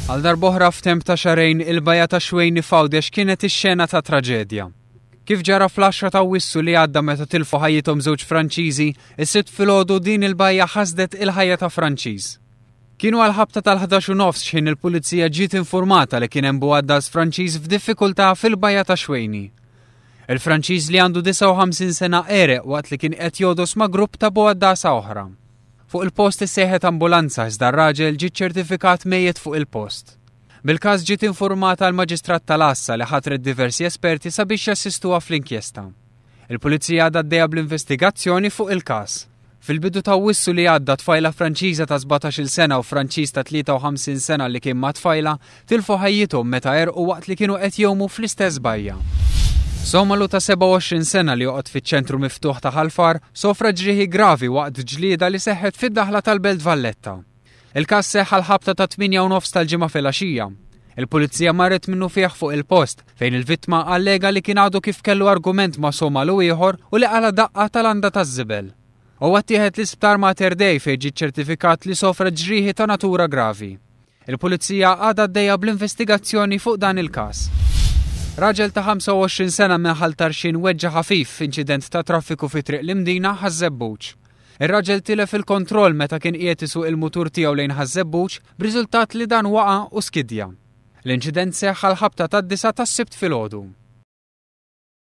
Għal darb'oħra f'temp ta' xahrejn il-bajja ta' Xwejni f'Għawdex kienet ix-xena ta' traġedja. Kif ġara fl-10 ta' Awwissu li għadda meta tilfu ħajjithom żewġ Franċiżi, is-Sibt filgħodu din il-bajja ħasdet il-ħajja ta' Franċiż. Kienu għall-ħabta tal-11 u nofs x'ħin il-Pulizija ġiet infurmata li kien hemm bugħaddas Franċiż f'diffikultà fil-bajja ta' Xwejni. Il-Franċiż li għandu 59 sena għereq waqt li kien qed jogħdos ma' grupp ta' bugħaddasa oħra. Fuq il-post issejħet ambulanza iżda r-raġel ġie ċċertifikat mejjet fuq il-post. Bil-każ ġiet infurmata l-Maġistrat tal-Għassa li ħatret diversi esperti sabiex jassistuha fl-inkjesta. Il-Pulizija għadha għaddejja bl-investigazzjoni fuq il-każ. Fil-bidu ta' Awwissu li għadda tfajla Franċiża ta' 17-il sena u Franċiż ta' 53 sena li kien mat-tfajla tilfu ħajjithom meta għerqu waqt li kienu qed jgħumu fl-istess bajja. Somalu ta' 27 sena li joqgħod fiċ-ċentru miftuħ ta' Ħal Far sofra ġrieħi gravi waqt ġlieda li seħħet fid-daħla tal-Belt Valletta. Il-każ seħħ għall-ħabta tat-tmienja u nofs tal-Ġimgħa filgħaxija. Il-Pulizija marret minnufih fuq il-post, fejn il-vittma allega li kien għadu kif kellu argument ma' Somalu ieħor u li qala' daqqa ta' landa taż-żibel. Huwa ttieħed l-Isptar Mater Dei fejn ġie ċċertifikat li sofra ġrieħi ta' natura gravi. Il-Pulizija għadha għaddejja bl-investigazzjoni fuq dan il-każ. Raġel ta' 25 sena minn Ħal Tarxien weġġa' ħafif f'inċident ta' traffiku fi Triq l-Imdina, Ħaż-Żebbuġ. Ir-raġel tilef il-kontroll meta kien qiegħed isuq il-mutur tiegħu lejn Ħaż-Żebbuġ b'riżultat li dan waqa' u skidja. L-inċident seħħ għall-ħabta tad-disgħa tas-Sibt filgħodu.